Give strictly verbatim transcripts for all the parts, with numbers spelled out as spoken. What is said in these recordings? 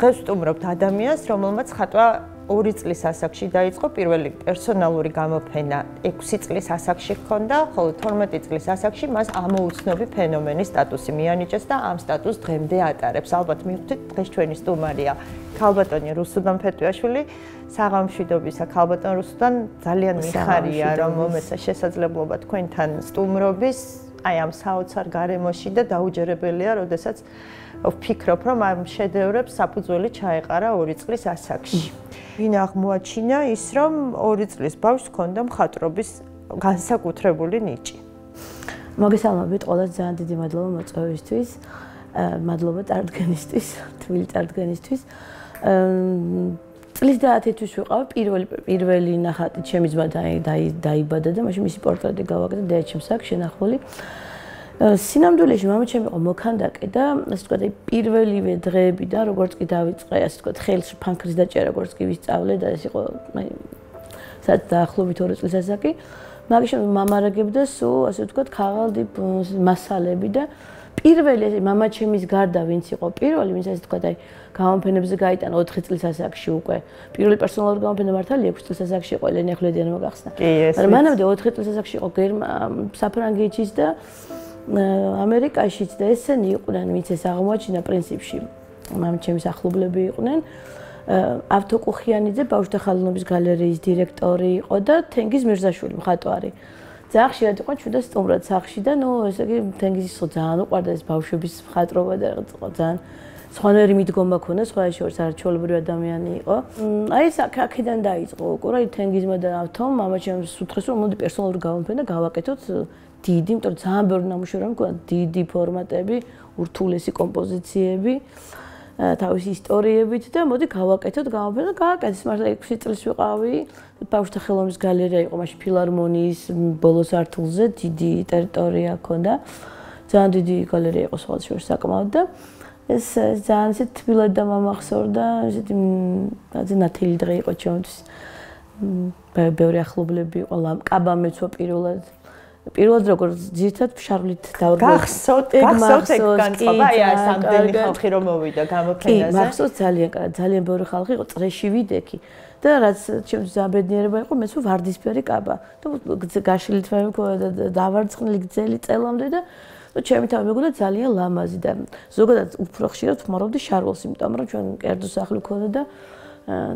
დღეს ვსტუმრობთ ადამიანს, რომელმაც ხატვა ორი წლის ასაკში დაიწყო, პირველი პერსონალური გამოფენა ექვსი წლის ასაკში ჰქონდა, ხოლო თორმეტი წლის ასაკში მას ამოუცნობი ფენომენის სტატუსი მიანიჭეს და ამ სტატუსს დღემდე ატარებს. ალბათ მივხვდით, დღეს ჩვენი სტუმარია ქალბატონი რუსუდან ფეტვიაშვილი. საღამშვიდობისა ქალბატონ რუსუდან, ძალიან მიხარია, რომ მომეცა შესაძლებლობა თქვენთან სტუმრობის, აი ამ საოცარ გარემოში და დაუჯერებელია, როდესაც ვფიქრობ, რომ ამ შედევრებს საფუძველი ჩაეყარა ორი წლის ასაკში. ვინ აღმოაჩინა ის, რომ ორი წლის ბავშვს ჰქონდა მხატვრობის განსაკუთრებული ნიჭი. მოგესალმებით ყველას, ძალიან დიდი მადლობა მოწვევისთვის, მადლობა წარდგენისთვის, თბილი წარდგენისთვის. წლის დაათი თვის ვიყავ, პირველი პირველი ნახატი ჩემი ძმა დაიბადა და მაშინ მისი პორტრეტი გავაკეთე დედაჩემს აქ შენახული. სინამდვილეში მამაჩემი იყო მოქანდაკე და ასე ვთქვათ, პირველივე დღეებიდან როგორც კი დავიწყე, ასე ვთქვათ, ხელში ფანქრის დაჭერა, როგორც კი ვისწავლე და ეს იყო, აი, სადაც დაახლოებით ორი წლის ასაკი. მაგის შემდეგ მამარაგებდა სულ, ასე ვთქვათ, ქაღალდი მასალები და პირველი მამაჩემის გარდა ვინც იყო პირველი, ვინც ასე ვთქვათ, აი, გამოფენებზე გაიტანა ოთხი წლის ასაკში უკვე. პირველი პერსონალური გამოფენა მართალია ექვსი წლის ასაკში იყო, ელენე ახვლედიანი მოგახსნა. მაგრამ მანამდე ოთხი წლის ასაკში იყო საფრანგეთშიც და ამერიკაშიც და ესენი იყვნენ, ვინც ეს აღმოაჩინა პრინციპში. მამაჩემის ახლობლები იყვნენ. ავთოკუხიანიძე ბავშვთა ხალხობის გალერეის დირექტორი იყო და თენგიზ მირზაშვილი მხატვარი. ძალიან ხშირად იყო ჩვენდა სტუმრად სახლში და ნუ ესე იგი თენგიზის ხო ძალიან უყვარდა ეს ბავშვების მხატვრობა და ძალიან სხვანაირი მიდგომა ქონდა, სხვა შორის არაჩვეულებრივი ადამიანი იყო. აი ეს აქედან დაიწყო უკვე, რა თენგიზმა და ავთომ მამაჩემს უთხრეს, რომ მოდი პერსონალური გამოფენა გავაკეთოთ დიდი, იმიტომ რომ ძალიან ბევრი ნამუშევარი მქონდა, დიდი ფორმატები, ურთულესი კომპოზიციები, თავისი ისტორიებით და მოდი გავაკეთოთ გამოფენა, გააკეთეს მართლა ექვსი წლის ვიყავი, ბავშვთა ხელოვნების გალერეა იყო მაშინ ფილარმონიის ბოლო სართულზე, დიდი ტერიტორია ჰქონდა, ძალიან დიდი გალერეა იყო სხვა შორის საკმაოდ და ეს ძალიან ისე თბილად და მომახსოვრდა, ისეთი რაღაც ნათელი დღე იყო ჩემთვის. ბევრი ახლობლები იყო, კაბა მეცვა პირველად. პირველად როგორც ძირითადად ფშარვლით დავრგო. გახსოვთ, გახსოვთ ეგ განწყობა, აი ეს ამდენი ხალხი რომ მოვიდა გამოფენაზე. კი, მახსოვს ძალიან კარგად, ძალიან ბევრი ხალხი იყო, წრეში ვიდექი. და რაც ჩემთვის ძალიან ბედნიერება იყო, მეცვა ვარდისფერი კაბა. და გაშლით მე მქონდა და დავარცხნილი გრძელი წელამდე და ჩემი თავი მეგონა ძალიან ლამაზი და ზოგადად უფრო ხშირად ვხმარავდი შარვალს, იმიტომ რომ ჩვენ კერძო სახლი ქონდა და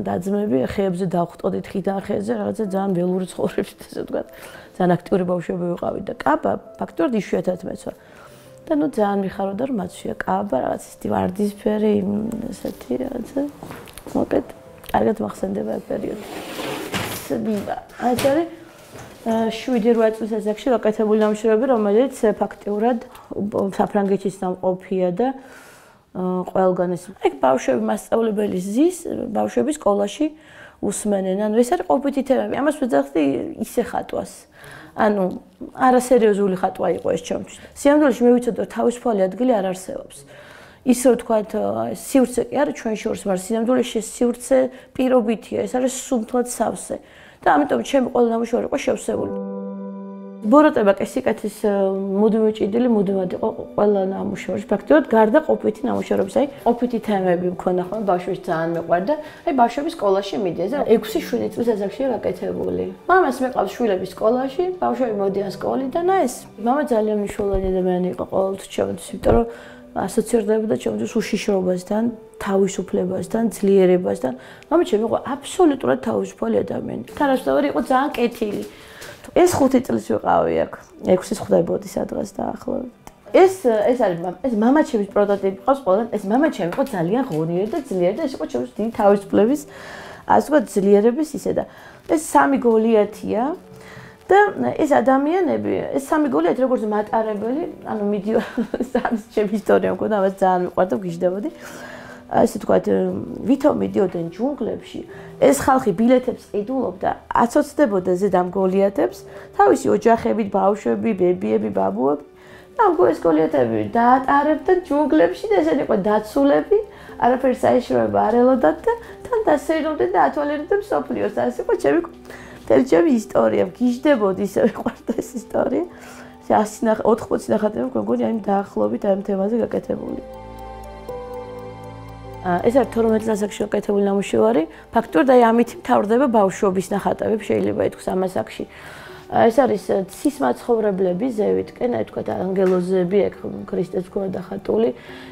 დაძმები ხეებზე დავხვტოდით ხიდან ხეზე, რაღაცა ძალიან ველური ცხოვრებით, ასე ვთქვათ. ძალიან აქტიური ბავშვები ვიყავით და კაბა ფაქტობრივად იშვიათად მეცვა. და ნუ ძალიან მიხარობდა რომ მაცვია კაბა, რაღაც ისეთი ვარდისფერი, ესეთი რაღაცა. მოკეთ, კარგად მახსენდება ეს პერიოდი. აი ეს არის შვიდი რვა წლის ასაკში გაკეთებული ნამუშევრები, რომელიც ფაქტიურად საფრანგეთის სამყოფია და ყველგან ეს. ეგ ბავშვები მასწავლებელი ზის, ბავშვები სკოლაში უსმენენ. ანუ ეს არის ყოფითი თემები. ამას ვეძახდი ისე ხატვას. ანუ არასერიოზული ხატვა იყო ეს ჩემთვის. სიამოვნებაში მე ვიცოდი რომ თავისუფალი ადგილი არ არსებობს. ისე ვთქვათ, სივრცე კი არა ჩვენ შორის, მაგრამ სიამოვნებაში სივრცე პირობითია, ეს არის სულთად სავსე. და ამიტომ ჩემი ყველა ნამუშევარი იყო შევსებული. ბოროტება კი სიკეთის მუდმივი ჭიდილი მუდმივად იყო ყველა ნამუშევრში. ფაქტობრივად გარდა ყოფითი ნამუშევრების, აი ყოფითი თემები მქონდა ხოლმე ბავშვებს ძალიან მეყვარდა. აი ბავშვების სკოლაში მიდიეს და ექვსი შვიდი წლის ასაკშია გაკეთებული. მამას მეყავს შვილების სკოლაში, ბავშვები მოდიან სკოლიდან, აი ეს მამა ძალიან მნიშვნელოვანი ადამიანი იყო ყოველთვის ჩემთვის, იმიტომ რომ ასოცირდებოდა ჩემთვის უშიშრობასთან, თავისუფლებასთან, ძლიერებასთან. მამა ჩემი იყო აბსოლუტურად თავისუფალი ადამიანი. თანასწორად იყო ძალიან კეთილი. ეს ხუთი წლის ვიყავი აქ. ექვსის ხვდებოდი სადღაც დაახლოებით. ეს ეს არის ეს მამა ჩემის პროტოტიპი ყავს ყველგან. ეს მამა ჩემი იყო ძალიან ღონიერი და ძლიერი და ეს იყო ჩემთვის დიდი თავისუფლების, ასე ვთქვათ, ძლიერების ისე და ეს სამი გოლიათია და ეს ადამიანები, ეს სამი გოლიათი როგორც მატარებელი, ანუ მიდიო სამის ჩემი ისტორია მქონდა, ამას ძალიან მიყვარდა, გიждდებოდი. ასე ვთქვათ, ვითომ მიდიოდნენ ჯუნგლებში, ეს ხალხი ბილეთებს ყიდულობდა, აცოცდებოდა ზედამ გოლიათებს, თავისი ოჯახებით, ბავშვები, ბებიები, ბაბუები. ამ ეს გოლიათები დაატარებდნენ ჯუნგლებში და ესენი იყო დაცულები, არაფერი საიშროება არ ელოდათ და თან დასეირნობდნენ და ათვალიერებდნენ მსოფლიოს. ასე იყო ჩემი მთელი ჩემი ისტორია, გიждდებოდი, ისე მიყვარდა ეს ისტორია. ასი ოთხმოცი ნახატები მგონი აი დაახლოებით ამ თემაზე გაკეთებული. ეს არის თორმეტ ასაკში გაკეთებული ნამუშევარი. ფაქტობრივად აი ამით მთავრდება ბავშვობის ნახატები, შეიძლება ითქვას ამ ასაკში. ეს არის ცისმაცხოვრებლები ზევიტკენ, აი თქვა ანგელოზები, ეგ ქრისტეს ქონა დახატული,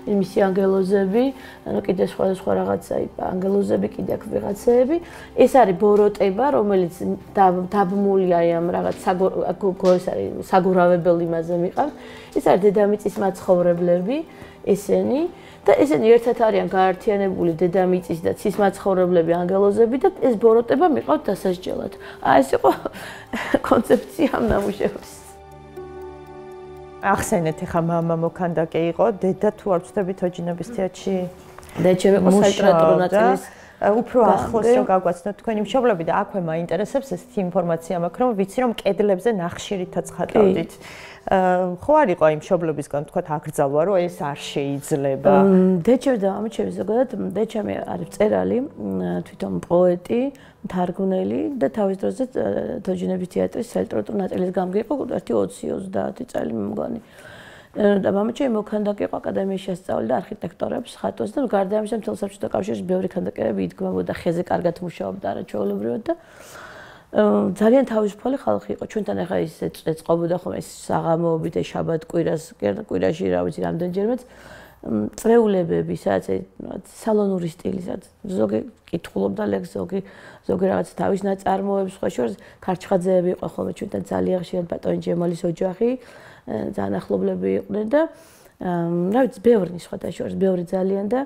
მისი ანგელოზები, ანუ კიდე სხვა სხვა რაღაცა, ანგელოზები კიდე აქ ვიღაცეები. ეს არის ბოროტება, რომელიც დაბმული აი ამ რაღაც ეს არის საგურავებელ იმაზე მიყავს. ეს არის დედამიწის მაცხოვრებლები, ესენი და ესენი ერთად არიან გაერთიანებული დედამიწის და ცისმაცხოვრებლები ანგელოზები და ეს ბოროტება მიყავთ დასასჯელად. აი ეს იყო კონცეფცია ამ ნამუშევრის. ახსენეთ ახლა მამა მოქანდაკე იყო, დედა თუ არ ვწდებით ოჯინების თეატრში. დედაჩემი იყო სალიტერატურო ნაწილის უფრო ახლოს რომ გაგვაცნოთ თქვენი მშობლები და აქვე მაინტერესებს ესეთი ინფორმაცია მაქვს, რომ ვიცი რომ კედლებზე ნახშირითაც ხატავდით. ხო არ იყო იმ მშობლებისგან თქვათ აკრძალვა რომ ეს არ შეიძლება. დედაჩემი და მამაჩემი ზოგადად დედაჩემი არის მწერალი, თვითონ პოეტი, მთარგმნელი და თავის დროზე თოჯინების თეატრის სალიტერატურო ნაწილის გამგე იყო ერთი ოცი ოცდაათი წელი მე მგონი. და მამაჩემი მოქანდაკე იყო აკადემიაში ასწავლიდა არქიტექტორებს, ხატვას და გარდა ამისა მთელ საბჭოთა კავშირში ბევრი ქანდაკებები იდგმებოდა, ხეზე კარგად მუშაობდა არაჩვეულებრივად და ძალიან თავისუფალი ხალხი იყო. ჩვენთან ახლა ის ეწყობოდა ხოლმე ეს საღამოობით, ეს შაბათ-კვირას, კვირაში რა ვიცი რამდენჯერმეც წრეულებები, სადაც სალონური სტილისაც ზოგი კითხულობდა ლექს, ზოგი ზოგი რაღაც თავის ნაწარმოებს, სხვა შორის ქარჩხაძეები იყო ხოლმე ჩვენთან ძალიან ხშირად ბატონი ჯემალის ოჯახი, ძალიან ახლობლები იყვნენ და რა ვიცი, ბევრი სხვათა შორის, ბევრი ძალიან და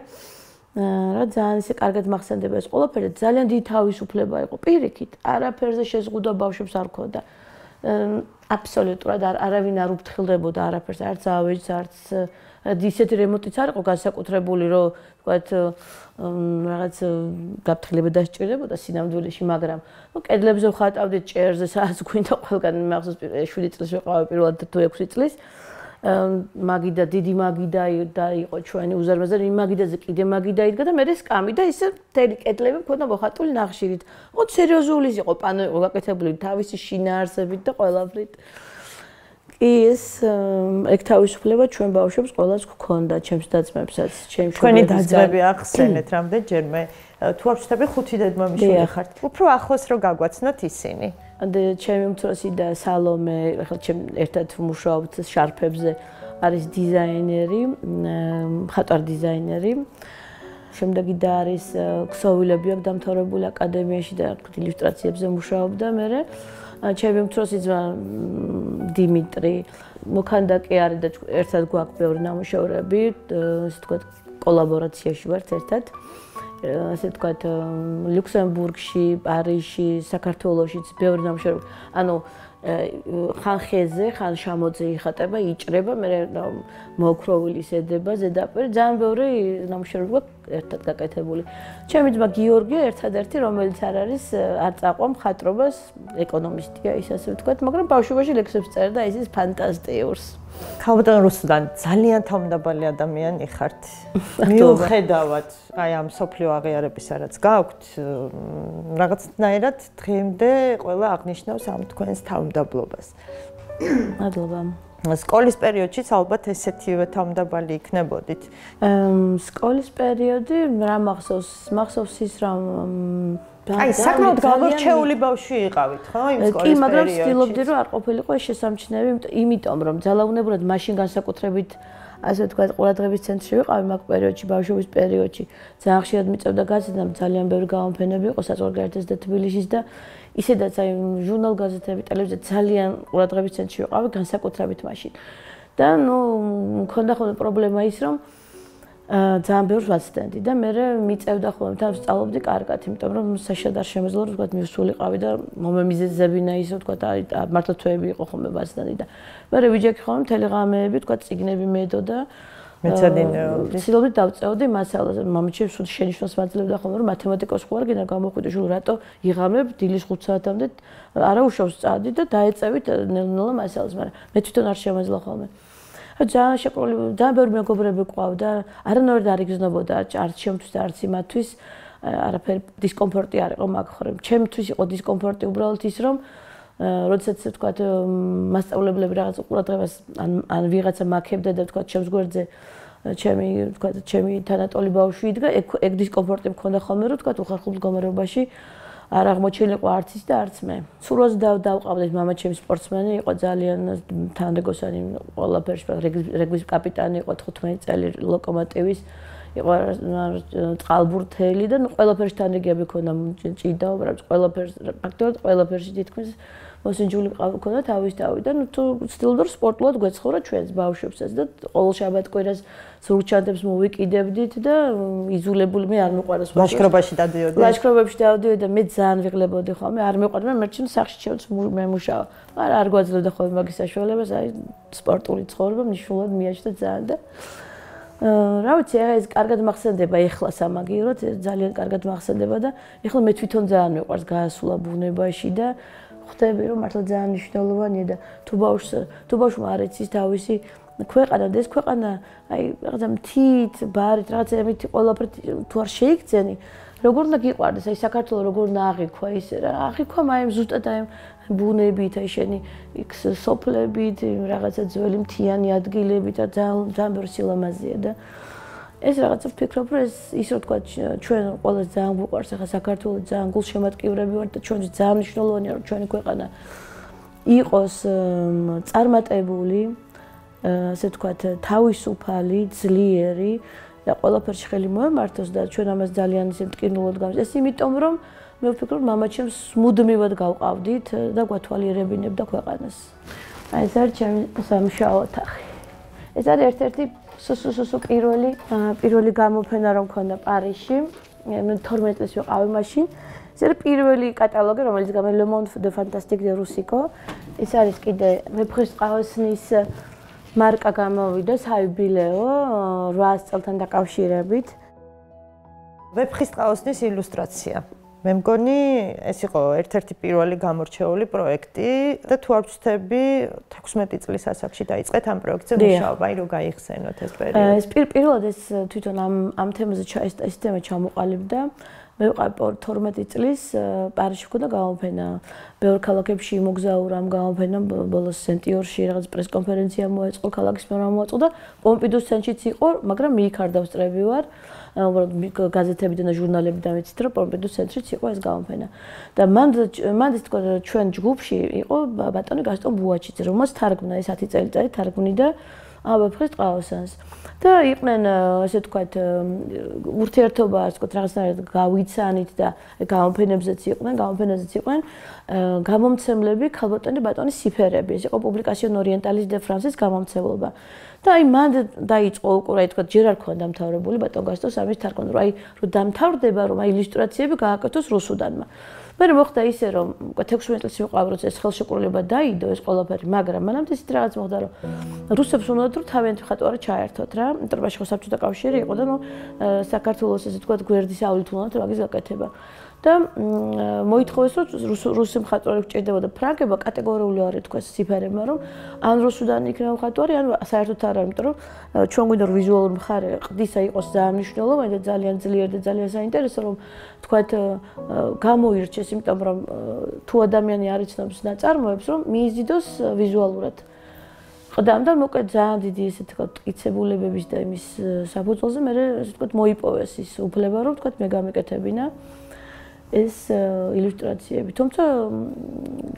რა ძალიან ისე კარგად მახსენდება ეს ყველაფერი, ძალიან დიდი თავისუფლება იყო პირიქით, არაფერზე შეზღუდვა ბავშვებს არ ქონდა. აბსოლუტურად არავინ არ უფრთხილდებოდა არაფერს, არც ავეჯს, არც ისეთი რემონტიც არ იყო განსაკუთრებული, რომ ვთქვათ რაღაც გაფრთხილება დასჭირდებოდა სინამდვილეში, მაგრამ ნუ კედლებზე ვხატავდით ჭერზე, სადაც გვინდა ყველგან მახსოვს შვიდი წლის ვიყავი პირველად თუ ექვსი წლის. მაგიდა დიდი მაგიდა და იყო ჩვენი უზარმაზარი იმ მაგიდაზე კიდე მაგიდა იდგა და მე სკამი და ისე მთელი კედლები მქონდა მოხატული ნახშირით. ოღონდ სერიოზული იყო პანო იყო გაკეთებული თავისი შინაარსებით და ყველაფრით. კი ეს ეგ თავისუფლება ჩვენ ბავშვებს ყველას გქონდა, ჩემს დაძმებსაც, ჩემს ჩვენი დაძმები ახსენეთ რამდენჯერმე თუ არ ვწდები ხუთი დედმამიშვილი ხართ. უფრო ახლოს რო გაგვაცნოთ ისინი. და ჩემი უმცროსი და სალომე, ახლა ჩემ ერთად ვმუშაობთ შარფებზე, არის დიზაინერი, მხატვარ დიზაინერი. შემდეგი და არის ქსოვილები აქვს დამთავრებული აკადემიაში და ილუსტრაციებზე მუშაობდა მე. ჩემი უმცროსი ძმა დიმიტრი მოქანდაკე არის და ერთად გვაქვს ბევრი ნამუშევრები, ასე ვთქვათ, კოლაბორაციაში ვართ ერთად. ასე ვთქვათ, ლუქსემბურგში, პარიზში, საქართველოშიც ბევრი ნამუშევრები. ანუ ხან ხეზე, ხან შამოძე იხატება, იჭრება, მე მოოქროვილი შედება ზედაპირი, ძალიან ბევრი ნამუშევრები გვაქვს ერთად გაკეთებული. ჩემი ძმა გიორგი ერთადერთი, რომელიც არ არის არ წაყვა მხატვრობას, ეკონომისტია ის ასე ვთქვათ, მაგრამ ბავშვობაში ლექსებს წერდა, ის ის ფანტასტიურს. ქალბატონ რუსუდან ძალიან თავმდაბალი ადამიანი ხართ. მიუხედავად აი ამ სოფლიო აღიარებისა რაც გაქვთ, რაღაცნაირად დღემდე ყველა აღნიშნავს ამ თქვენს თავმდაბლობას. მადლობა. სკოლის პერიოდშიც ალბათ ესეთივე თავმდაბალი იქნებოდით. სკოლის პერიოდი რა მახსოვს? მახსოვს ის რომ აი, საკმაოდ გამორჩეული ბავშვი იყავით, ხო, იმ სკოლის პერიოდში? კი, მაგრამ ვცდილობდი რომ არ ყოფილიყო ეს შესამჩნევი, იმიტომ რომ ძალაუნებურად მაშინ განსაკუთრებით ასე ვთქვათ, ყურადღების ცენტრში ვიყავი მაგ პერიოდში, ბავშვობის პერიოდში. ძალიან ხშირად მიწევდა გაზეთამ, ძალიან ბევრი გამოფენები იყო საზღვარგარეთის და თბილისის და ისედაც აი ჟურნალ-გაზეთები, ტელევიზია ძალიან ყურადღების ცენტრში ვიყავი, განსაკუთრებით მაშინ. და ნუ მქონდა ხოლმე პრობლემა ის, რომ ძალიან ბევრს ვაცდენდი და მე მიწევდა ხოლმე თან ვსწავლობდი კარგად, იმიტომ რომ საშად არ შემეძლო რომ ვთქვათ მივსულიყავი და მომემიზეზებინა ისე ვთქვათ აი მართლა თვეები იყო ხოლმე ვაცდენდი და მე ვიჯექი ხოლმე მთელი ღამეები ვთქვათ წიგნები მედო და მეცადინეობდი. ცდილობდი დავწევდი მასალას. მამაჩემ სულ შენიშვნას მაძლევდა ხოლმე რომ მათემატიკოს ხო არ გინდა გამოხვიდე შულ რატო იღამებ დილის ხუთ საათამდე არა უშავს წადი და დაეწევით ნელ-ნელა მასალას, მაგრამ მე თვითონ არ შემეძლო ხოლმე. ძალიან შეყოლი, ძალიან ბევრი მეგობრები ყავდა, არანაირად არ იგრძნობოდა არც ჩემთვის და არც იმათთვის, არაფერი დისკომფორტი არ იყო მაგ ხორემ. ჩემთვის იყო დისკომფორტი უბრალოდ ის, რომ როდესაც ვთქვათ, მასწავლებლები რაღაც ყურადღებას ან ან ვიღაცა მაქებდა და ვთქვათ, ჩემს გვერდზე ჩემი ვთქვათ, ჩემი თანატოლი ბავშვი იდგა, ეგ ეგ დისკომფორტი მქონდა ხოლმე, რომ ვთქვათ, უხერხულ მდგომარეობაში არ აღმოჩენილიყო არც ის და არც მე. სურვას დავყავდეთ, მამაჩემი სპორტსმენი იყო, ძალიან თანრიგოსანი ყველაფერში, რეგბის კაპიტანი იყო, თხუთმეტი წელი ლოკომოტივის, იყო წყალბურთელი და ყველაფერში თანრიგები ქონდა, ჭიდაო, ყველაფერში, ფაქტობრივად ყველაფერში თითქმის მოსინჯული ყავდა თავის თავი და ნუ თუ ვცდილობდი რომ სპორტულად გვეცხოვრა ჩვენს ბავშვებსაც და ყოველ შაბათ-კვირას ზურგჩანთებს მოვიკიდებდით და იზულებული მე არ მიყვარს ლაშქრობაში დავდიოდი. ლაშქრობებში დავდიოდი და მე ძალიან ვიღლებოდი ხოლმე, არ მიყვარდა, მე ჩემს სახში ჩემს მე მუშავა. მაგრამ არ გვაძლევდა ხოლმე მაგის საშუალებას, აი სპორტული ცხოვრება მნიშვნელოვნად მიაჩნდა ძალიან და რა ვიცი, ეს კარგად მახსენდება ეხლა სამაგიეროდ, ძალიან კარგად მახსენდება და ეხლა მე თვითონ ძალიან მიყვარს გაასულა ბუნებაში და ხვდები რომ მართლა ძალიან მნიშვნელოვანია და თუ ბავშვს თუ ბავშვმა არ იცის თავისი ქვეყანა და ეს ქვეყანა აი რაღაცა მთით, ბარით, რაღაცა ამით ყველაფერი თუ არ შეიქცენი, როგორ უნდა გიყვარდეს, აი საქართველოს როგორ უნდა აღიქვა ისე რა, აღიქვა მაიმ ზუსტად აი ბუნებით, აი შენი იქ სოფლებით, რაღაცა ძველი მთიანი ადგილებით და ძალიან ძალიან ბევრი სილამაზეა და ეს რაღაცა ვფიქრობ, რომ ეს ის რა თქვა ჩვენ ყველას ძალიან გვიყვარს, ახლა საქართველოს ძალიან გულშემატკივრები ვართ და ჩვენთვის ძალიან მნიშვნელოვანია რომ ჩვენი ქვეყანა იყოს წარმატებული, ასე ვთქვათ, თავისუფალი, ძლიერი და ყველაფერში ხელი მოემართოს და ჩვენ ამას ძალიან ისე მტკივნულად გავს. ეს იმიტომ რომ მე ვფიქრობ, მამაჩემს მუდმივად გავყავდით და გვათვალიერებინებდა ქვეყანას. აი ეს არის ჩემი სამშაო ოთახი. ეს არის ერთ-ერთი სუსუსუ პირველი პირველი გამოფენა რომ მქონდა პარიზში. მე თორმეტი წელს ვიყავი მაშინ. ეს არის პირველი კატალოგი, რომელიც გამო Le Monde de Fantastique de Rusico. ეს არის კიდე ვეფხისტყაოსნის მარკა გამოვიდა საიუბილეო რვაას წელთან დაკავშირებით. ვეფხისტყაოსნის ილუსტრაცია. მე მგონი ეს იყო ერთ-ერთი პირველი გამორჩეული პროექტი და თუ არ ვცდები თექვსმეტი წლის ასაკში დაიწყეთ ამ პროექტზე მუშაობა, აი რომ გაიხსენოთ ეს პერიოდი. ეს პირველად ეს თვითონ ამ ამ თემაზე ეს თემა ჩამოყალიბდა. მე ვიყავი თორმეტი წლის პარიზში მქონდა გამოფენა. ბევრ ქალაქებში იმოგზაურა ამ გამოფენამ, ბოლოს სენტიორში რაღაც პრესკონფერენცია მოეწყო, ქალაქის მერმა მოაწყო და პომპიდუს ცენტრშიც იყო, მაგრამ მე იქ არ დავსწრები ვარ. უბრალოდ გაზეთებიდან და ჟურნალებიდან ვიცით, რომ პომპიდუს ცენტრშიც იყო ეს გამოფენა. და მან მან ის თქვა ჩვენ ჯგუფში იყო ბატონი გასტონ ბუაჩიძე, რომელსაც თარგმნა ეს ათი წელიწადი თარგმნიდა ვეფხისტყაოსანს. და იყვნენ ასე ვთქვათ ურთიერთობა, ასე ვთქვათ, რაღაცნაირად გავიცანით და გამოფენებზეც იყვნენ, გამოფენაზეც იყვნენ გამომცემლები ქალბატონი ბატონი სიფერები. ეს იყო პუბლიკაციონ ორიენტალის დე ფრანსის გამომცემლობა. და აი მან დაიწყო უკვე რა თქვა, ჯერ არ ქონდა დამთავრებული ბატონ გასტონს ამის თარგმნა, რომ აი რომ დამთავრდება, რომ აი ილუსტრაციები გააკეთოს რუსუდანმა. მე მოხდა ისე, რომ თექვსმეტი წელს ვიყავი, როცა ეს ხელშეკრულება დაიდო ეს ყველაფერი, მაგრამ მანამდე ისეთ რაღაც მოხდა, რომ რუსებს უნდათ რომ თავიანთი ხატვარი ჩაერთოთ რა. ინტერვაში ხო საბჭოთა კავშირი იყო და ნუ საქართველოს ესე თქვა გვერდის ავლით უნდათ მაგის გაკეთება. და მოითხოვეს რომ რუსი მხატვარი გჭირდებოდა ფრანგება კატეგორიული არ ეთქვეს ციფერებმა რომ ან რუსუდან იქნება მხატვარი ან საერთოდ არა იმიტომ რომ ჩვენ გვინდა რომ ვიზუალური მხარე ყდისა იყოს ძალიან მნიშვნელოვანი და ძალიან ძლიერი და ძალიან საინტერესო რომ თქვათ გამოირჩეს იმიტომ რომ თუ ადამიანი არ იცნობს ნაწარმოებს რომ მიიზიდოს ვიზუალურად ყდამ და მოკლედ ძალიან დიდი ესე თქვათ მტკიცებულებების და იმის საფუძველზე მე ესე თქვათ მოიპოვეს ის უფლება რომ თქვათ მე გამეკეთებინა ეს ილუსტრაციები. თუმცა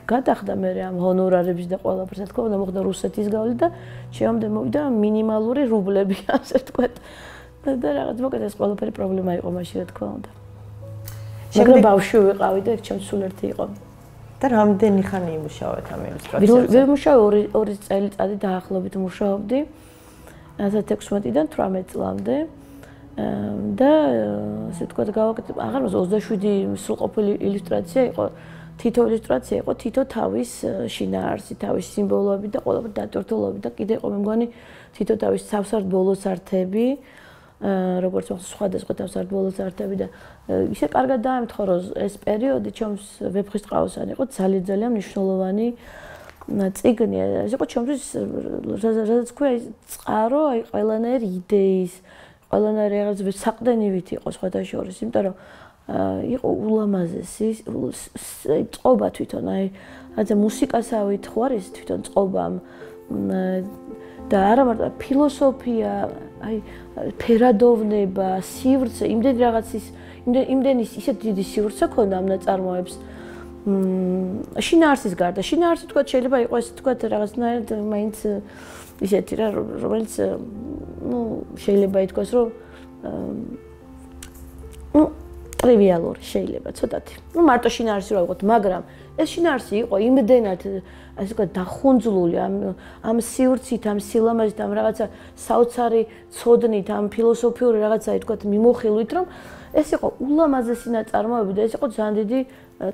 გადახდა მე ამ ჰონორარების და ყველაფერს, თქო, უნდა მოხდა რუსეთის გავლით და შემამდე მოვიდა მინიმალური რუბლები, ასე ვთქვათ. და რაღაც მოკლედ ეს ყველაფერი პრობლემა იყო მაშინ, რა თქმა უნდა. მაგრამ ბავშვი ვიყავი და ჩემს სულ ერთი იყო. და რამდენი ხანი იმუშავეთ ამ ილუსტრაციებზე? ვერ მუშაობ ორი ორი წელიწადი დაახლოებით მუშაობდი. ათას ექვსმეტიდან თვრამეტ წლამდე. და ასე ვთქვათ გავაკეთე აღარ მას ოცდაშვიდი სრულყოფილი ილუსტრაცია იყო თითო ილუსტრაცია იყო თითო თავის შინაარსი თავის სიმბოლოები და ყველაფერი დატვირთულობები და კიდე იყო მე მგონი თითო თავის თავსარდ ბოლოსართები როგორც სხვადასხვა თავსარდ ბოლოსართები და ისე კარგად დაემთხო რომ ეს პერიოდი ჩემს ვეფხისტყაოსანი იყო ძალიან ძალიან მნიშვნელოვანი წიგნი ეს იყო ჩემთვის სადაც ქვია წყარო აი ყველანაირი იდეის ყველანაირი რაღაც საყდენივით იყო სხვადასხვა იმიტომ რომ იყო ულამაზესი წყობა თვითონ აი რაც მუსიკასავით ხო არის თვითონ წყობამ და არა მარტო ფილოსოფია აი ფერადოვნება სივრცე იმდენ რაღაცის იმდენ ისეთ დიდი სივრცე ქონდა ამ ნაწარმოებს შინაარსის გარდა შინაარსი თქვა შეიძლება იყოს თქვა რაღაცნაირად მაინც ისეთი რა რომელიც ну შეიძლება ითქვას რომ ну ტრივიალური შეიძლება ცოტათი ну მარტო შინაარსი რა ვიყოთ მაგრამ ეს შინაარსი იყო იმდენად ასე ვთქვათ დახუნძლული ამ ამ სივრცით ამ სილამაზით ამ რაღაცა საოცარი ცოდნით ამ ფილოსოფიური რაღაცა ითქვათ მიმოხილვით რომ ეს იყო ულამაზესი ნაწარმოები და ეს იყო ძალიან დიდი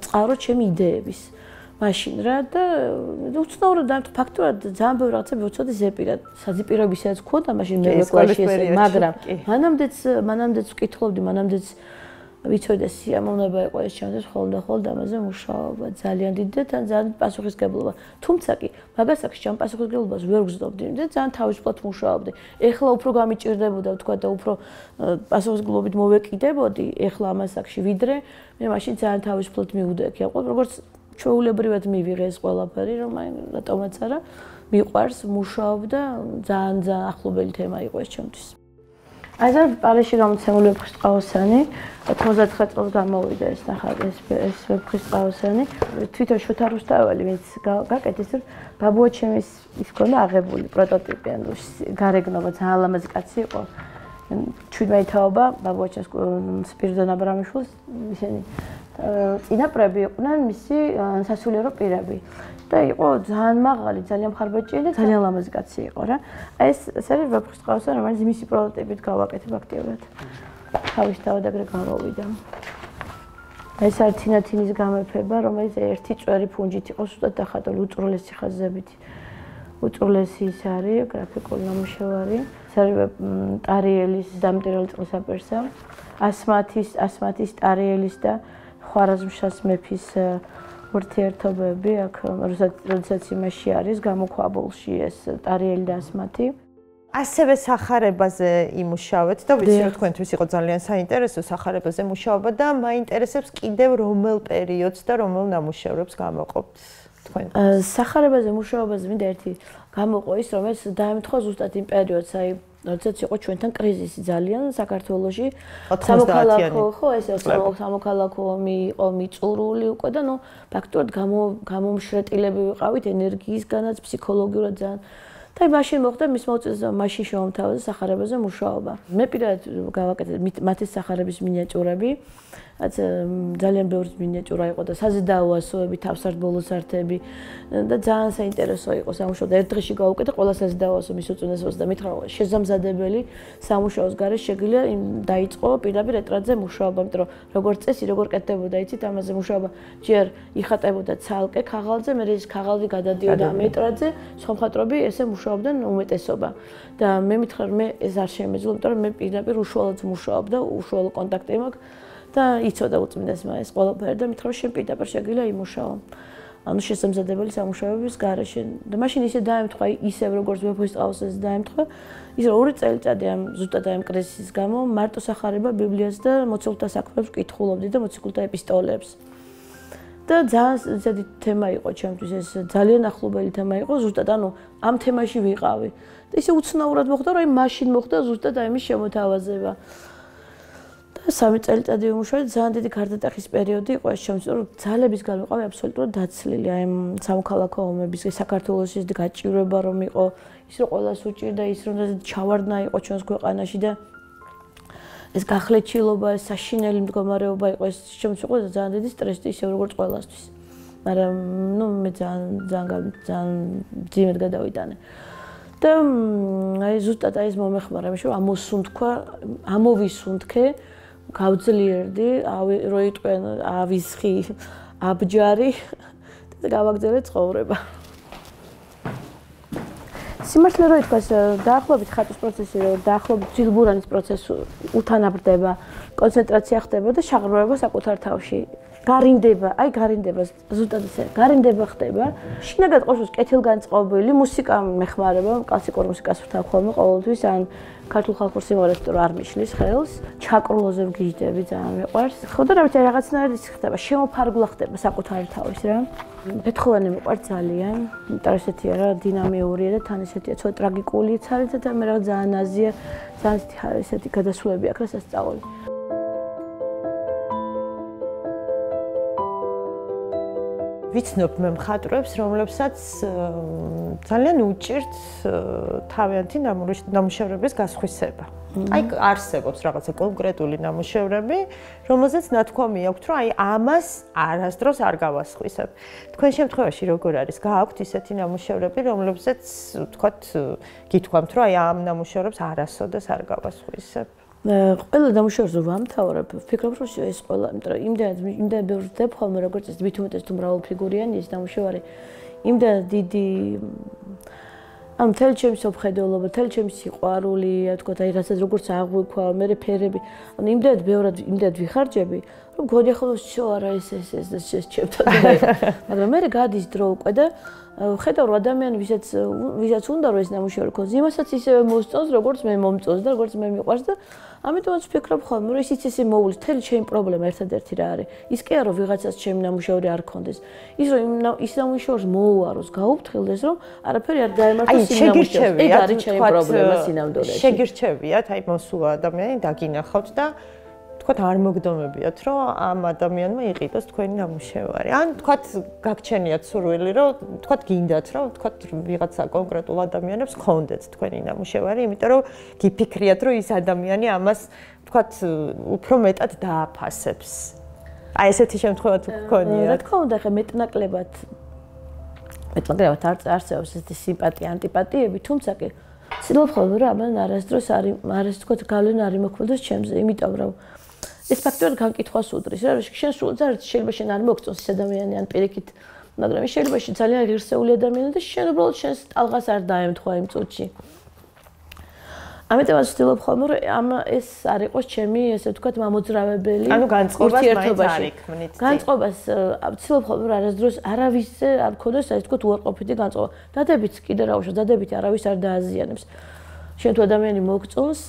წყარო ჩემი იდეების მაშინ რა და უცნაურად და ფაქტურად ძალიან ბევრი რაღაცები ვიცოდი ზეპირად საზეპიროებისაც ქონდა მაშინ მე კლასში ესე მაგრამ მანამდეც მანამდეც ვკითხულობდი მანამდეც ვიცოდი სიამოვნება იყო ეს ჩემთვის ხოლმე და ხოლმე ამაზე მუშაობა ძალიან დიდი და თან ძალიან პასუხისგებლობა თუმცა კი მაგასაკში ჩემ პასუხისგებლობას ვერ ვგზნობდი და ძალიან თავისუფლად მუშაობდი ეხლა უფრო გამიჭირდებოდა ვთქვა და უფრო პასუხისგებლობით მოვეკიდებოდი ეხლა ამასაკში ვიდრე მე მაშინ ძალიან თავისუფლად მივდექი აყო როგორც ჩვეულებრივად მივიღე ეს ყველაფერი რომ აი რატომაც არა მიყვარს მუშაობდა ძალიან ძალიან ახლობელი თემა იყო ეს ჩემთვის აი და პარიზში გამოცემული ვეფხისტყაოსანი ოთხმოცდათხმეტ წელს გამოვიდა ეს ნახა ეს ეს ვეფხისტყაოსანი თვითონ შოთა რუსთაველი ვინც გაკეთეს რომ ბაბუაჩემის ის ქონდა აღებული პროტოტიპი ანუ გარეგნობა ძალიან ლამაზი კაცი იყო ჩვიდმეტაობა ბაბუაჩემს სპირიდონ აბრამიშვილს ისინი წინაპრები იყვნენ მისი სასულიერო პირები და იყო ძალიან მაღალი, ძალიან მხარბაჭიე და ძალიან ლამაზი კაცი იყო რა. აი ეს ეს არის ვეფხისტყაოსანი, რომელიც მისი პროტოტიპით გავაკეთებ აქტიურად. თავისთავად ეგრე გამოვიდა. ეს არის თინათინის გამეფება, რომელიც ერთი წვერი ფუნჯით იყო სულად დახატული უწროლესი ხაზებით. უწროლესი ის არის გრაფიკული ნამუშევარი. ეს არის ტარიელის დამტირელი წყლისაპირსა, ასმათის ასმათის ტარიელის და ხვარაზმშას მეფის ურთიერთობები აქ როდესაც იმაში არის გამოქვაბულში ეს ტარიელი და ასმათი ასევე სახარებაზე იმუშავეთ და ვიცი რომ თქვენთვის იყო ძალიან საინტერესო სახარებაზე მუშაობა და მაინტერესებს კიდევ რომელ პერიოდს და რომელ ნამუშევრებს გამოყოფთ თქვენ სახარებაზე მუშაობაზე მინდა ერთი გამოყო ის რომ ეს დაემთხვა ზუსტად იმ პერიოდს აი როდესაც იყო ჩვენთან კრიზისი ძალიან საქართველოში სამოქალაქო ხო ეს სამოქალაქო ომი იყო მიწურული უკვე და ნუ ფაქტობრივად გამომშრეტილები ვიყავით ენერგიისგანაც ფსიქოლოგიურად ძალიან და მაშინ მოხდა მის მოწესრიგებას მაშინ შემოთავაზა სახარებაზე მუშაობა მე პირადად გავაკეთე მათი სახარების მინიატიურები რაც ძალიან ბევრი მინიატიურა იყო და საზედაო ასოები, თავსარდ ბოლოსართები და ძალიან საინტერესო იყო სამუშაო და ერთ დღეში გავუკეთე ყველა საზედაო ასო მის უწოდესობას და მითხრა შესამზადებელი სამუშაოს გარშე შეგვიძლია დაიწყო პირდაპირ ეტრატზე მუშაობა, იმიტომ რომ როგორც წესი, როგორ კეთდებოდა, იცით, ამაზე მუშაობა ჯერ იხატებოდა ცალკე ქაღალდზე, მე ის ქაღალდი გადადიოდა ამ ეტრატზე, სხვა მხატვრები ესე მუშაობდნენ უმეტესობა. და მე მითხრა მე ეს არ შემეძლო, იმიტომ რომ მე პირდაპირ უშუალოდ მუშაობ და უშუალო კონტაქტი მაქვს და იცოდა უწმინდესმა ეს ყველაფერი და მითხრა შენ პირდაპირ შეგიძლია იმუშაო. ანუ შესამზადებელი სამუშაოების გარეშე. და მაშინ ისე დაემთხვა ისევ როგორც ვეფხისტყაოსს ეს დაემთხვა, ის რომ ორი წელიწადი ამ ზუსტად ამ კრიზისის გამო მარტო სახარება ბიბლიას და მოციქულთა საქმეებს ვკითხულობდი და მოციქულთა ეპისტოლეებს. და ძალიან ზედი თემა იყო ჩემთვის ეს ძალიან ახლობელი თემა იყო ზუსტად ანუ ამ თემაში ვიყავი. და ისე უცნაურად მოხდა რომ აი მაშინ მოხდა ზუსტად აი მის შემოთავაზება. და სამი წელიწადი ვიმუშავე ძალიან დიდი გარდატეხის პერიოდი იყო ეს ჩემთვის რომ ძალების გამო ვიყავი აბსოლუტურად დაცლილი აი სამოქალაქო ომების საქართველოს ის გაჭირვება რომ იყო ის რომ ყველას უჭირდა ის რომ ჩავარდნა იყო ჩვენს ქვეყანაში და ეს გახლეჩილობა, ეს საშინელი მდგომარეობა იყო ეს ჩემთვის იყო ძალიან დიდი სტრესი ისე როგორც ყველასთვის. მაგრამ ნუ მე ძალიან ძალიან ძალიან ძიმედ გადავიტანე. და აი ზუსტად აი ეს მომეხმარა მე რომ ამოსუნთქვა, ამოვისუნთქე, გავძლიერდი, რო იტყვენ ავისხი, აბჯარი და გავაგზავნე ცხოვრება. სიმართლე რო ითქვას, დაახლოებით ხატვის პროცესი, დაახლოებით ძილბურანის პროცესი უთანაბრდება, კონცენტრაცია ხდება და შაღრმავება საკუთარ თავში. გარინდება, აი გარინდება, ზუსტად ისე, გარინდება ხდება. შინაგან ყოველთვის კეთილგანწყობილი მუსიკა მეხმარება, კლასიკურ მუსიკას ვთავ ხოლმე ყოველთვის, ან ქართულ ხალხურ სიმღერას თუ არ მიშლის ხელს, ჩაკრულოზე ვგიჟდები, ძალიან მიყვარს. ხო და რა ვიცი, რაღაცნაირად ის ხდება, შემოფარგლა ხდება საკუთარი თავის რა. ბეთჰოვენი მიყვარს ძალიან, იმიტომ რომ ესეთია რა, დინამიურია და თან ესეთია, ცოტა ტრაგიკულიც არის და მე რაღაც ძალიან აზია, ძალიან ესეთი გადასვლები აქვს რა სასწაული. ვიცნობ მე მხატვრებს, რომლებსაც ძალიან უჭირთ თავიანთი ნამუშევრების გასხვისება. აი არსებობს რაღაცა კონკრეტული ნამუშევრები, რომელზეც ნათქვამი აქვს, რომ აი ამას არასდროს არ გავასხვისებ. თქვენ შემთხვევაში როგორ არის? გააქვთ ისეთი ნამუშევრები, რომლებზეც ვთქვათ, გითქვამთ, რომ აი ამ ნამუშევრებს არასოდეს არ გავასხვისებ. ყველა ნამუშევრს რო ვამთავრებ, ვფიქრობ, რომ ეს ყველა, იმიტომ რომ იმდენად იმდენად ბევრს ვძებ ხოლმე, როგორც ეს თვით უმეტეს თუ მრავალფიგურიანი ეს ნამუშევარი, იმდენად დიდი ამ მთელი ჩემი სოფხედელობა, მთელი ჩემი სიყვარული, თქო, აი რასაც როგორც აღვიქვა, მე ფერები, ანუ იმდენად ბევრად იმდენად ვიხარჯები, რომ გონი ახლა შო არა ეს ეს ეს ეს ჩემთან. მაგრამ მე გადის დრო უკვე და ხედავ რომ ადამიანი ვისაც ვისაც უნდა რომ ეს ნამუშევარი ქონდეს, იმასაც ისევე მოსწონს, როგორც მე მომწონს და როგორც მე მიყვარს და ამიტომაც ვფიქრობ ხოლმე, რომ ისიც ისე მოვulis, მთელი ჩემი პრობლემა ერთადერთი რა არის. ის კი არა რომ ვიღაცას ჩემი ნამუშევარი არ ქონდეს. ის რომ ის ნამუშევრს მოუაროს, გაუფრთხილდეს, რომ არაფერი არ დაემართოს იმ ნამუშევრს. ეს არის ჩემი პრობლემა სინამდვილეში. შეგირჩევიათ, აი მოსულა ადამიანი დაგინახავთ და თქვათ არ მოგდომებიათ, რომ ამ ადამიანმა იყიდოს თქვენი ნამუშევარი. ან თქვათ გაგჩენიათ სურვილი, რომ თქვათ გინდათ, რომ თქვათ ვიღაცა კონკრეტულ ადამიანებს გქონდეთ თქვენი ნამუშევარი, იმიტომ რომ გიფიქრიათ, რომ ის ადამიანი ამას თქვათ უფრო მეტად დააფასებს. აი ესეთი შემთხვევა თუ გქონიათ. რა თქმა უნდა, ხა მეტნაკლებად მეტნაკლებად არსებობს ესეთი სიმპათია, ანტიპათიები, თუმცა კი ცდილობ ხოლმე რომ ამან არასდროს არ არის თქვათ გავლენა არ იმოქმედოს ჩემზე, იმიტომ რომ ეს ფაქტობრივად განკითხვას უდრის რა, შენ სულ შეიძლება შენ არ მოგწონს ეს ადამიანი ან პირიქით, მაგრამ შეიძლება შენ ძალიან ღირსეული ადამიანი და შენ უბრალოდ შენს ტალღას არ დაემთხვა იმ წუთში. ამიტომაც ვცდილობ ხოლმე რომ ამ ეს არ იყოს ჩემი ესე ვთქვათ მამოძრავებელი ანუ განწყობას მაინც არ იქმნით. განწყობას ვცდილობ ხოლმე რომ არასდროს არავისზე არ მქონდეს ასე ვთქვათ უარყოფითი განწყობა. დადებით კიდე რა უშო, დადებით არავის არ დააზიანებს. შენ თუ ადამიანი მოგწონს,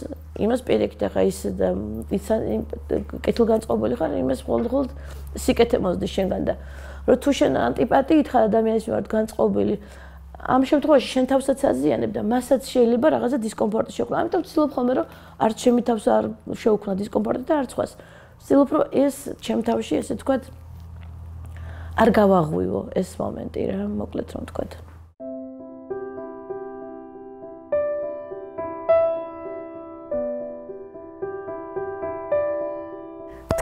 იმას პირიქით ახლა ის ის კეთილგანწყობილი ხარ, იმას მხოლოდ სიკეთე მოსდის შენგან და რომ თუ შენ ანტიპათიით ხარ ადამიანის მიმართ განწყობილი, ამ შემთხვევაში შენ თავსაც აზიანებ და მასაც შეიძლება რაღაცა დისკომფორტი შექმნა. ამიტომ ვცდილობ ხოლმე რომ არც ჩემი თავს არ შეუქმნა დისკომფორტი და არც სხვას. ვცდილობ რომ ეს ჩემ თავში ესე ვთქვათ არ გავაღვივო ეს მომენტი რა, მოკლედ რომ ვთქვათ.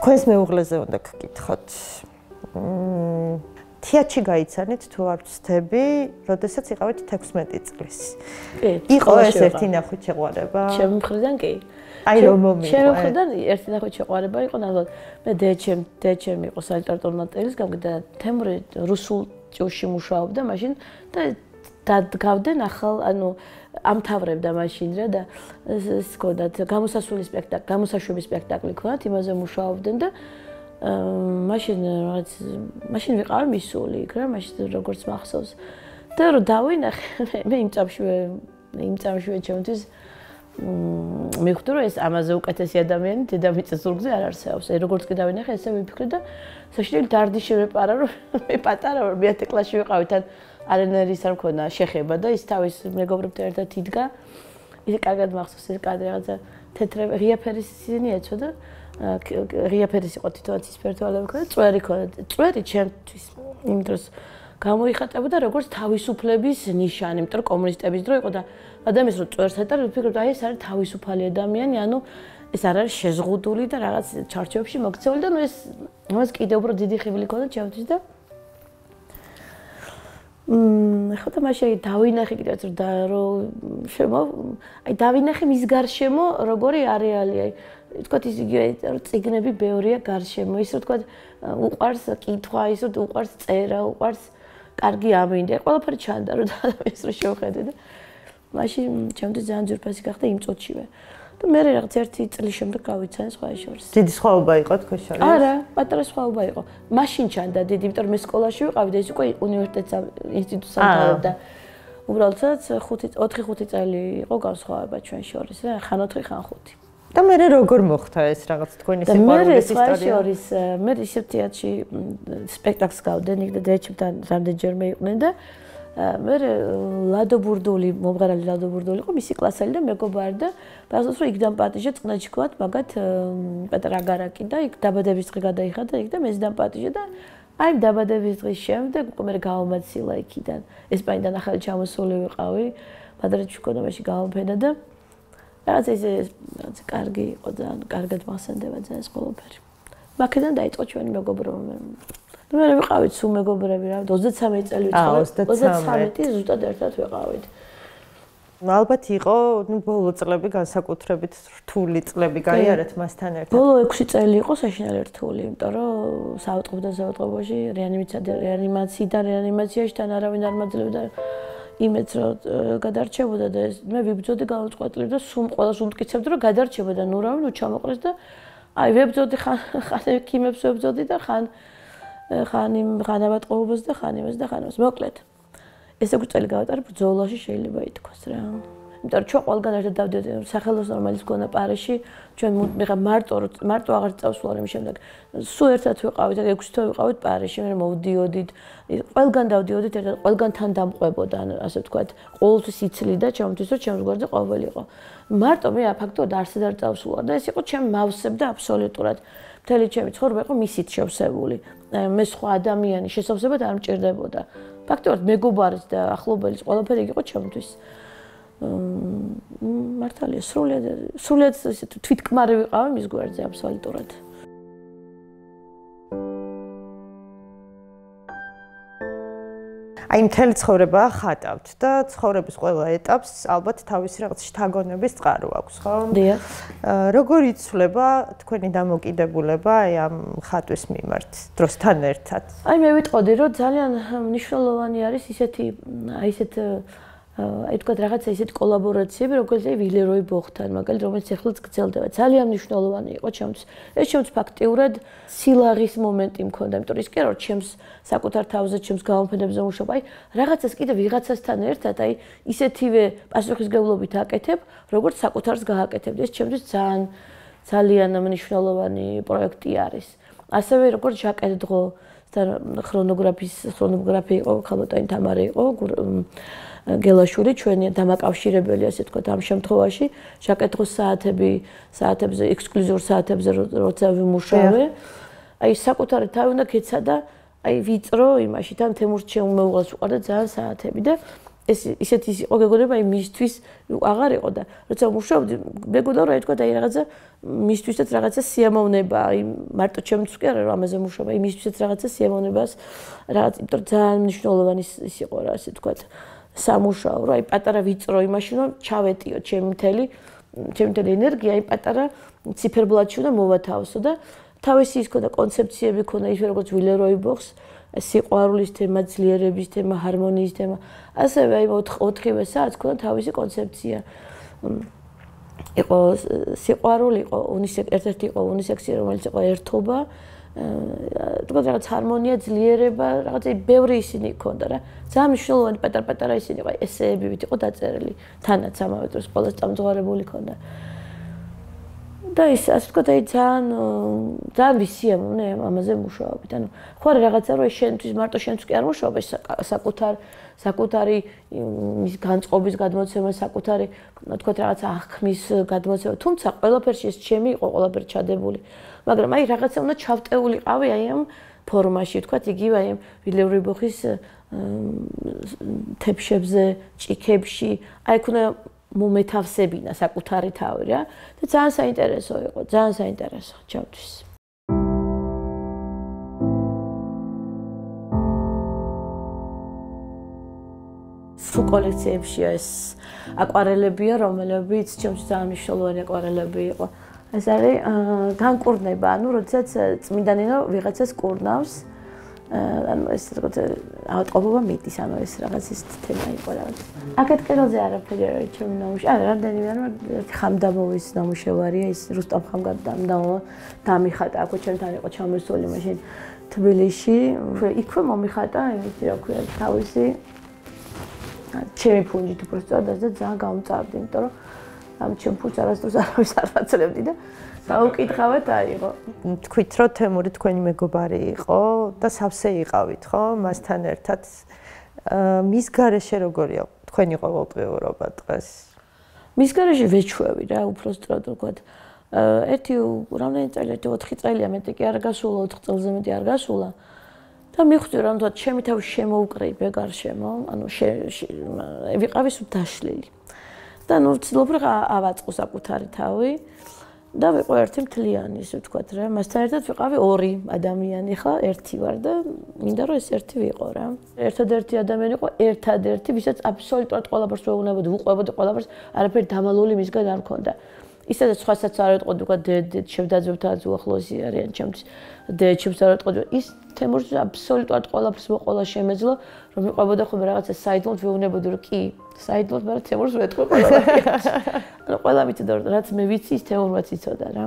თქვენს მეუღლეზე უნდა გკითხოთ. თეატრში გაიცანით თუ არ ვცდები, როდესაც იყავით თექვსმეტი წლის. კი. იყო ეს ერთი ნახვით შეყვარება? ჩემი მხრიდან კი. აი რომ მომიყვა. ჩემი მხრიდან ერთი ნახვით შეყვარება იყო ნამდვილად. მე დეჩემ დეჩემ იყო სალიტერატურო მატერიალის გამგე და თემური რუსულ ჭუში მუშაობდა მაშინ და დადგავდნენ ახალ, ანუ ამთავრებდა მაშინ რა და ეს ჰქონდათ გამოსასვლელი სპექტაკლი, გამოსაშვები სპექტაკლი ჰქონდათ, იმაზე მუშაობდნენ და მაშინ რაც მაშინ ვიყავი მისული იქ რა, მაშინ როგორც მახსოვს. და რომ დავინახე, მე იმ წამშივე, იმ წამშივე ჩემთვის მივხვდი რომ ეს ამაზე უკეთესი ადამიანი დედამიწის ზურგზე არ არსებობს. აი როგორც კი დავინახე, ესე ვიფიქრე და საშინელი დარდი შევეპარა რომ მე პატარა ვარ, მეათე კლასში ვიყავი თან არენერის არ მქონა შეხება და ის თავის მეგობრებთან ერთად იდგა. ისე კარგად მახსოვს ეს კადრი რაღაცა თეთრ ღია ფერის ისინი ეცვა და ღია ფერის იყო თვითონ ცისფერთვალები ქონდა, წვერი ქონდა. წვერი ჩემთვის იმ დროს გამოიხატებოდა როგორც თავისუფლების ნიშანი, იმიტომ რომ კომუნისტების დრო იყო და ადამიანს რო წვერს ატარ, ვფიქრობ, აი ეს არის თავისუფალი ადამიანი, ანუ ეს არ არის შეზღუდული და რაღაც ჩარჩოებში მოქცეული და ნუ ეს მას კიდევ უფრო დიდი ხიბლი ქონდა ჩემთვის და მმ ხო და მაშინ დავინახე კიდევ რომ და რომ შემო აი დავინახე მის გარშემო როგორი არეალი აი ვთქვათ ის იგივე წიგნები ბევრია გარშემო ის რომ ვთქვათ უყარს კითხვა ის რომ უყარს წერა უყარს კარგი ამინდა ყველაფერი ჩანდა რომ ადამიანს რო შევხედე და მაშინ ჩემთვის ძალიან ძვირფასი გახდა იმ წუთშივე და მე რაღაც ერთი წლის შემდეგ გავიცანე სხვა შორის დიდი სხვაობა იყო თქვენ შორის არა პატარა სხვაობა იყო მაშინ ჩანდა დიდი იმიტომ რომ მე სკოლაში ვიყავი და ეს უკვე უნივერსიტეტს ინსტიტუტს ამთავრებდა უბრალოდ ხუთი ოთხი ხუთი წელი იყო განსხვავება ჩვენ შორის რა ხან ოთხი ხან ხუთი და მე როგორ მოხდა ეს რაღაც თქვენი სიყვარულის ისტორია მე შორის მე ისევ თეატრში სპექტაკლს გავდენ იქ და დეჩებთან რამდენჯერმე იყვნენ და მე ლადო ბურდული მომღერალი ლადო ბურდული იყო მისი კლასელი და მეგობარი და ბაზოს რომ იქ დამპატიჟე წნეჩი ქვათ მაგათ პეტრა აგარაკი და იქ დაბადების დღე გადაიხადა იქ და მეც დამპატიჟე და აი დაბადების დღის შემდეგ უკვე მე გავამაცილა იქიდან ესპანიდან ახალი ჩამოსული ვიყავი ბადრეთში მქონდა მაშინ გავამფენა და რაღაც ეს რაღაც კარგი იყო ძალიან კარგად მასენდება ძალიან ეს ყველაფერი მაქედან დაიწყო ჩვენი მეგობრობა მე ვიყავით სულ მეგობრები რა ოცდათსამეტი წელი ვიყავით ოცდათსამეტი ზუსტად ერთად ვიყავით ალბათ იყო ნუ ბოლო წლები განსაკუთრებით რთული წლები გაიარეთ მასთან ერთად ბოლო ექვსი წელი იყო საშინელი რთული იმიტომ რომ საავადმყოფო საავადმყოფოში რეანიმაცია რეანიმაციიდან რეანიმაციაში თან არავინ არ მაძლევდა იმეც რომ გადარჩებოდა და მე ვიბძოდი გავუწყვეტლი და სულ ყველას უმტკიცებდი რომ გადარჩებოდა ნუ რავი ნუ ჩამოყრეს და აი ვებძოდი ხან ხან ექიმებს ვებძოდი და ხან ხან იმ ღანავატყობობას და ხან იმას და ხან იმას მოკლედ ეს ექვსი წელი გავატარე ბრძოლაში შეიძლება ითქვას რა იმიტომ რომ ჩვენ ყველგან ერთად დავდიოდი სახელოს ნორმალის გონა პარიში ჩვენ მიღა მარტო მარტო აღარ წავსვლა იმ შემდეგ სულ ერთად ვიყავით და ექვსი თვე ვიყავით პარიში მე მოვდიოდით ყველგან დავდიოდით ერთად ყველგან თან დამყვებოდა ასე ვთქვათ ყოველთვის იცლიდა ჩემთვის რომ ჩემს გვერდზე ყოველი იყო მარტო მე აფაქტოდ არსად არ წავსვლა და ეს იყო ჩემ მავსებდა აბსოლუტურად მთელი ჩემი ცხოვრება იყო მისით შევსებული მე სხვა ადამიანი შესავსებად არ მჭირდებოდა ფაქტობრივად მეგობარის და ახლობელის ყველაფერი იყო ჩემთვის მართალია სრულიად სრულიად თვითკმარი ვიყავი მის გვერდზე აბსოლუტურად აი მთელი ცხოვრება ხატავთ და ცხოვრების ყველა ეტაპს ალბათ თავისი რაღაც შთაგონების წყარო აქვს, ხო? დიახ. როგორ იცვლება თქვენი დამოკიდებულება აი ამ ხატვის მიმართ დროსთან ერთად? აი მე ვიტყოდი რომ ძალიან მნიშვნელოვანი არის ისეთი აი ესეთ აი თქვა რაღაცა ისეთი კოლაბორაციები, როგორც აი ვილეროი ბოხთან, მაგალითად, რომელიც ახლაც გრძელდება. ძალიან მნიშვნელოვანი იყო ჩემთვის. ეს ჩემს ფაქტიურად სილაღის მომენტი მქონდა, იმიტომ რომ ის კი არა, რომ ჩემს საკუთარ თავზე, ჩემს გამოფენებზე მუშაობ, აი რაღაცას კიდე ვიღაცასთან ერთად, აი ისეთივე პასუხისგებლობით აკეთებ, როგორც საკუთარს გააკეთებ. ეს ჩემთვის ძალიან ძალიან მნიშვნელოვანი პროექტი არის. ასევე როგორც ჟაკეტ დღო ქრონოგრაფის ქრონოგრაფი იყო, ხალოტაინ თამარი იყო, გელაშვილი ჩვენი დამაკავშირებელი ასე თქვა ამ შემთხვევაში ჟაკეტ დღოს საათები საათებზე ექსკლუზიურ საათებზე როცა ვიმუშავე აი საკუთარი თავი უნდა გეცადა აი ვიწრო იმაში თან თემურს შემოუღალს უყარდა ძალიან საათები და ეს ისეთი იყო გეგონება აი მისთვის აღარ იყო და როცა ვმუშაობდი მეგონა რომ აი თქვა აი რაღაცა მისთვისაც რაღაცა სიამოვნება აი მარტო ჩემთვის კი არა რომ ამაზე მუშაობ აი მისთვისაც რაღაცა სიამოვნებას რაღაც იმიტომ ძალიან მნიშვნელოვანი ის იყო რა ასე თქვა სამუშაო რა აი პატარა ვიწრო იმაში რომ ჩავეტიო ჩემი მთელი ჩემი მთელი ენერგია აი პატარა ციფერბლატში უნდა მოვათავსო და თავისი ის ქონდა კონცეფციები ქონდა ის როგორც ვილეროი ბოხს სიყვარულის თემა, ძლიერების თემა, ჰარმონიის თემა. ასევე აი ოთხივე საათს ქონდა თავისი კონცეფცია. იყო სიყვარული, იყო უნისექსი, ერთ-ერთი იყო უნისექსი, რომელიც იყო ერთობა. თქო რაღაც ჰარმონია, ძლიერება, რაღაცა ბევრი ისინი ქონდა რა. ძალიან მნიშვნელოვანი პატარ-პატარა ისინი იყო, ესეებივით იყო დაწერილი. თანაც ამავე დროს ყველა წამძღვარებული ქონდა. და ის ასე ვთქვათ, აი ძალიან ძალიან ვისიამოვნე ამაზე მუშაობით. ანუ ხო არა რაღაცა რომ შენთვის მარტო შენთვის კი არ მუშაობ, ეს საკუთარ საკუთარი მის განწყობის გადმოცემა, საკუთარი ვთქვათ რაღაცა აღქმის გადმოცემა, თუმცა ყველაფერში ეს ჩემი იყო ყველაფერი ჩადებული. მაგრამ აი რაღაცა უნდა ჩავტეულიყავი აი ამ ფორმაში, ვთქვათ, იგივე აი ამ ვილემ რუიბოხის თეფშებზე, ჭიქებში, აი იქ უნდა მომეთავსებინა საკუთარი თავი რა და ძალიან საინტერესო იყო, ძალიან საინტერესო ჩემთვის. სულ კოლექციებშია ეს აკვარელებია, რომელებიც ჩემთვის ძალიან მნიშვნელოვანი აკვარელები იყო. ეს არის განკურნება, ანუ როდესაც წმინდანინო ვიღაცას კურნავს, ანუ ეს როგორც ავადმყოფობა მიდის, ანუ ეს რაღაც ის თემა იყო რაღაც. აქეთ კედელზე არაფერი არ არის ჩემი ნამუშევარი. არა, რამდენიმე ანუ ხამდამოვის ნამუშევარია, ის რუსტამ ხამგადამო დამიხატა, აქ ჩემთან იყო ჩამოსული მაშინ თბილისში. იქვე მომიხატა, იმით რა ქვია, თავისი ჩემი ფუნჯით უბრალოდ და ძალიან გამწარდი, იმიტომ რომ ამ ჩემ ფუნჯს არასდროს არავის არ ვაცლებდი და დაუკითხავად აიღო. თქვით რომ თემური თქვენი მეგობარი იყო და სავსე იყავით, ხო? მასთან ერთად მის გარეშე როგორია თქვენი ყოველდღიურობა დღეს? მის გარეშე ვეჩვევი რა, უბრალოდ ვთქვათ. ერთი რამდენი წელი, ერთი ოთხი წელია, მეტი კი არ გასულა, ოთხ წელზე მეტი არ გასულა. და მიხვდი რომ თქო ჩემი თავი შემოუკრიბე გარშემო, ანუ ვიყავი სულ დაშლილი. და ნუ ვცდილობ რა ავაწყო საკუთარი თავი და ვიყო ერთი მთლიანი, ისე ვთქვათ რა. მასთან ერთად ვიყავი ორი ადამიანი, ხა ერთი ვარ და მინდა რომ ეს ერთი ვიყო რა. ერთადერთი ადამიანი იყო, ერთადერთი, ვისაც აბსოლუტურად ყველაფერს ვეუბნებოდი, ვუყვებოდი ყველაფერს, არაფერი დამალული მისგან არ მქონდა. ისაც სხვასაც არ ეტყოდი, უკვე დედ შევდაძებთან უახლოესი არიან ჩემთვის. დედჩებს არ ეტყოდი, ის თემურს აბსოლუტურად ყველაფერს მოყოლა შემეძლო, რომ ვიყვებოდა ხოლმე რაღაცა საიდლოდ ვეუბნებოდი, რომ კი, საიდლოდ, მაგრამ თემურს ვეთქვი ყველაფერს. ანუ ყველა მიცოდა, რაც მე ვიცი, ის თემურმაც იცოდა რა.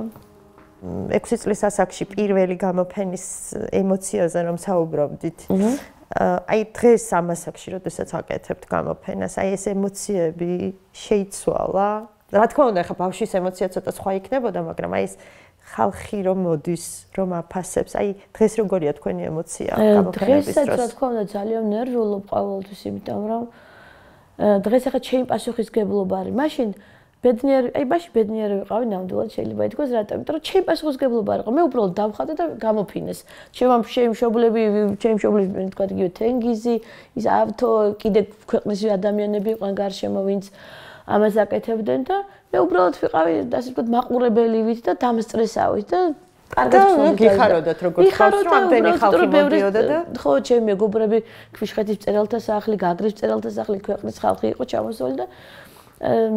ექვსი წლის ასაკში პირველი გამოფენის ემოციაზე რომ საუბრობდით. აი დღეს ამ ასაკში, როდესაც აკეთებთ გამოფენას, აი ეს ემოციები შეიცვალა? რა თქმა უნდა, ხა ბავშვის ემოცია ცოტა სხვა იქნებოდა, მაგრამ აი ეს ხალხი რომ მოდის, რომ აფასებს, აი დღეს როგორია თქვენი ემოცია გამოფენების დროს? დღესაც რა თქმა უნდა ძალიან ნერვიულობ ყოველთვის, იმიტომ რომ დღეს ახლა ჩემი პასუხისგებლობა არის. მაშინ ბედნიერი, აი მაშინ ბედნიერი ვიყავი ნამდვილად შეიძლება ითქვას, რატომ? იმიტომ რომ ჩემი პასუხისგებლობა არ იყო. მე უბრალოდ დავხატე და გამოფინეს. ჩემი მშობლები, ჩემი მშობლები თქვა იგივე თენგიზი, ის ავთო, კიდე ქვეყნის ადამიანები იყვნენ გარშემო, ვინც ამას აკეთებდნენ და მე უბრალოდ ვიყავი, ასე ვთქვათ, მაყურებელივით და დამსტრესავით და კარგად ვცნობდი. გიხაროდათ როგორც ხალხს, რომ ამდენი ხალხი მოდიოდა და ხო, ჩემი მეგობრები, ქვიშხეთის მწერალთა სახლი, გაგრის მწერალთა სახლი, ქვეყნის ხალხი იყო ჩამოსული და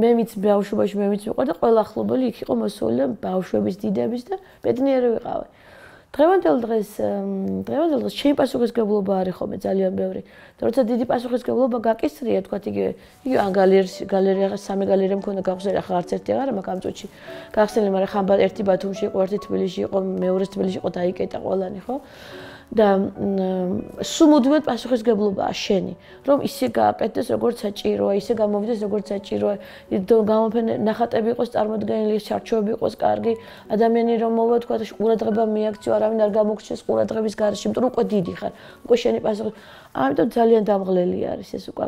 მე მიც ბავშვობაში მე მიც ვიყავ და ყველა ახლობელი იქ იყო მოსული და ბავშვების დიდების და ბედნიერი ვიყავი. დღევანდელ დღეს დღევანდელ დღეს ჩემი პასუხისგებლობა არის ხოლმე ძალიან ბევრი. და როცა დიდი პასუხისგებლობა გაკისრია, თქვათ იგივე, იგივე ან გალერეაში, გალერეა სამი გალერეა მქონდა გახსნილი, ახლა არც ერთი აღარ მაქვს ამ წუთში. გახსნილი, მაგრამ ხან ერთი ბათუმში იყო, ერთი თბილისში იყო, მეორე თბილისში იყო, დაიკეტა ყველანი, ხო? და სუმუდმოდ პასუხისგებლობაა შენი, რომ ისე გააკეთდეს, როგორც საჭიროა, ისე გამოვიდეს, როგორც საჭიროა, გამოფენა ნახატები იყოს წარმოდგენილი, ჩარჩოები იყოს კარგი, ადამიანი რომ მოვა, თქვა, ყურადღება მიაქციო, არავინ არ გამოგჩეს ყურადღების გარეშე, იმიტომ რომ უკვე დიდი ხარ, უკვე შენი პასუხი. ამიტომ ძალიან დამღლელი არის ეს უკვე.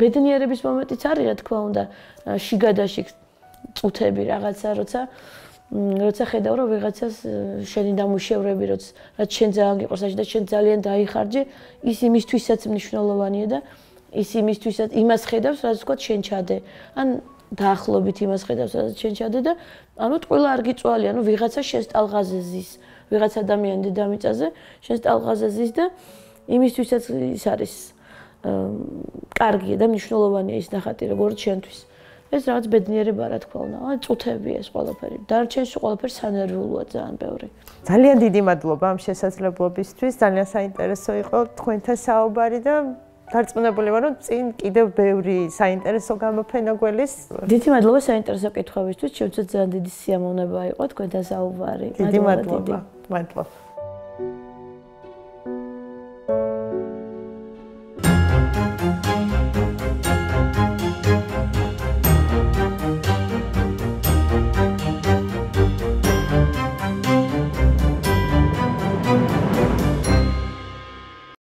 ბედნიერების მომენტიც არის, რა თქმა უნდა, შიგადაშიგ წუთები რაღაცა, როცა როცა ხედავ რომ ვიღაცას შენი დამუშევრები რაც რაც შენ ძალიან გიყურს და შენ ძალიან დაიხარჯე, ის იმისთვისაც მნიშვნელოვანია და ის იმისთვისაც იმას ხედავს, რაც ვთქვათ შენ ჩადე. ან დაახლოებით იმას ხედავს, რაც შენ ჩადე და ანუ ტყუილა არ გიწვალი, ანუ ვიღაცა შენს ტალღაზე ზის, ვიღაც ადამიანი დედამიწაზე შენს ტალღაზე ზის და იმისთვისაც ის არის კარგია და მნიშვნელოვანია ის ნახატი როგორც შენთვის. ეს რაღაც ბედნიერება რა თქმა უნდა, აი წუთები ეს ყველაფერი. დარჩენში ყველაფერი სანერვულოა ძალიან ბევრი. ძალიან დიდი მადლობა ამ შესაძლებლობისთვის. ძალიან საინტერესო იყო თქვენთან საუბარი და დარწმუნებული ვარ, რომ წინ კიდევ ბევრი საინტერესო გამოფენა გველის. დიდი მადლობა საინტერესო კითხვებისთვის. ჩემთვის ძალიან დიდი სიამოვნება იყო თქვენთან საუბარი. დიდი მადლობა. მადლობა.